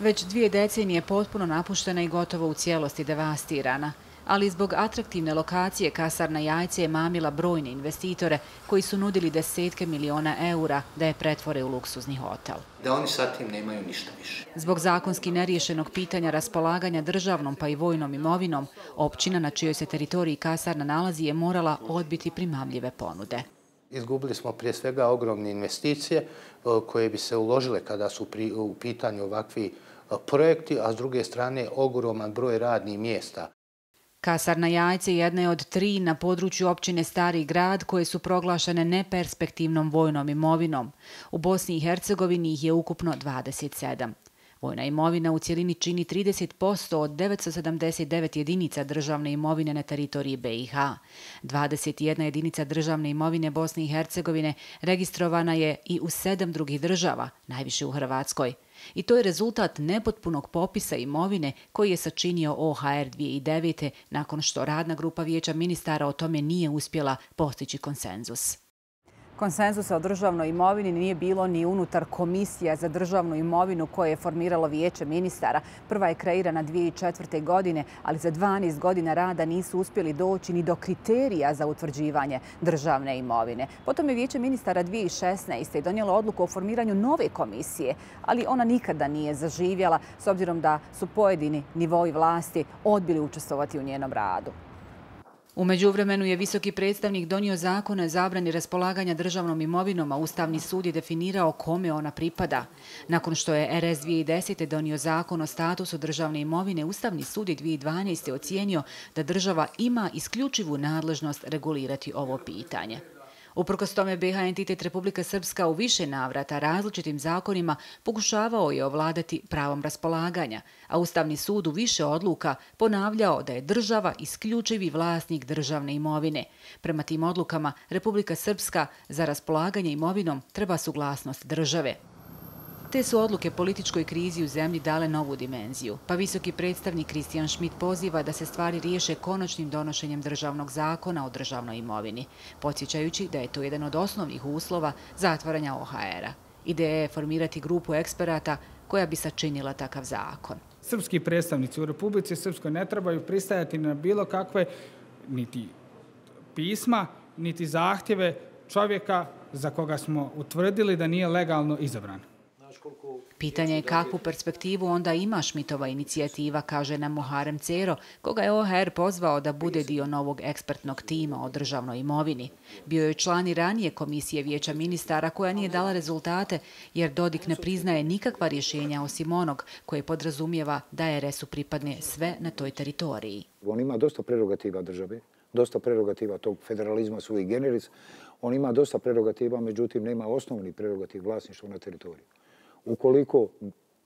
Već 2 decenije potpuno napuštena i gotovo u cijelosti devastirana. Ali zbog atraktivne lokacije kasarna Jajce je mamila brojne investitore koji su nudili desetke miliona eura da je pretvore u luksuzni hotel. Da oni sa tim nemaju ništa više. Zbog zakonski neriješenog pitanja raspolaganja državnom pa i vojnom imovinom, općina na čijoj se teritoriji kasarna nalazi je morala odbiti primamljive ponude. Izgubili smo prije svega ogromne investicije koje bi se uložile kada su u pitanju ovakvi projekti, a s druge strane ogroman broj radnih mjesta. Kasarna Jajce jedna je od 3 na području općine Stari grad koje su proglašene neperspektivnom vojnom imovinom. U Bosni i Hercegovini ih je ukupno 27. Vojna imovina u cjelini čini 30% od 979 jedinica državne imovine na teritoriji BiH. 21 jedinica državne imovine Bosne i Hercegovine registrovana je i u 7 drugih država, najviše u Hrvatskoj. I to je rezultat nepotpunog popisa imovine koji je sačinio OHR 2009. nakon što radna grupa Vijeća ministara o tome nije uspjela postići konsenzus. Konsenzusa o državnoj imovini nije bilo ni unutar Komisija za državnu imovinu koje je formiralo Vijeće ministara. Prva je kreirana 2004. godine, ali za 12 godina rada nisu uspjeli doći ni do kriterija za utvrđivanje državne imovine. Potom je Vijeće ministara 2016. donijelo odluku o formiranju nove komisije, ali ona nikada nije zaživjela s obzirom da su pojedini nivoi vlasti odbili učestvovati u njenom radu. U međuvremenu je visoki predstavnik donio zakon o zabrani raspolaganja državnom imovinom, a Ustavni sud je definirao kome ona pripada. Nakon što je RS 2010. donio zakon o statusu državne imovine, Ustavni sud je 2012. ocijenio da država ima isključivu nadležnost regulirati ovo pitanje. Uprkos tome, BiH entitet Republika Srpska u više navrata različitim zakonima pokušavao je ovladati pravom raspolaganja, a Ustavni sud u više odluka ponavljao da je država isključivi vlasnik državne imovine. Prema tim odlukama, Republika Srpska za raspolaganje imovinom treba suglasnost države. Te su odluke političkoj krizi u zemlji dale novu dimenziju, pa visoki predstavnik Kristijan Šmit poziva da se stvari riješe konačnim donošenjem državnog zakona o državnoj imovini, podsjećajući da je to jedan od osnovnih uslova zatvaranja OHR-a. Ideja je formirati grupu eksperata koja bi sačinila takav zakon. Srpski predstavnici u Republici Srpskoj ne trebaju pristajati na bilo kakve niti pisma, niti zahtjeve čovjeka za koga smo utvrdili da nije legalno izabran. Pitanje je kakvu perspektivu onda ima Šmitova inicijativa, kaže nam Muharem Cero, koga je OHR pozvao da bude dio novog ekspertnog tima o državnoj imovini. Bio je član i ranije komisije Vijeća ministara koja nije dala rezultate jer Dodik ne priznaje nikakva rješenja osim onog koje podrazumijeva da RS-u pripadne sve na toj teritoriji. On ima dosta prerogativa države, dosta prerogativa tog federalizma sui generis. On ima dosta prerogativa, međutim nema osnovni prerogativ vlasništva na teritoriju.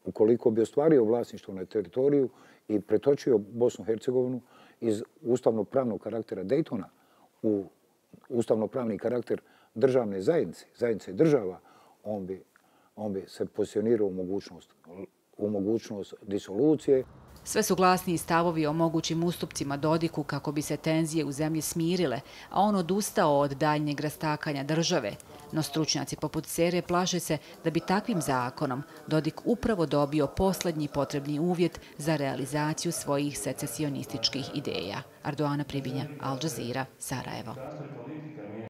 Ukoliko bi ostvario vlasništvo na teritoriju i pretočio Bosnu i Hercegovinu iz ustavno-pravnog karaktera Daytona u ustavno-pravni karakter državne zajednice država, on bi se pozicionirao u mogućnost disolucije. Sve su glasniji stavovi o mogućim ustupcima Dodiku kako bi se tenzije u zemlji smirile, a on odustao od daljnjeg rastakanja države. No stručnjaci poput Cere plaše se da bi takvim zakonom Dodik upravo dobio posljednji potrebni uvjet za realizaciju svojih secesionističkih ideja. Ardoana Pribinja, Al Jazeera, Sarajevo.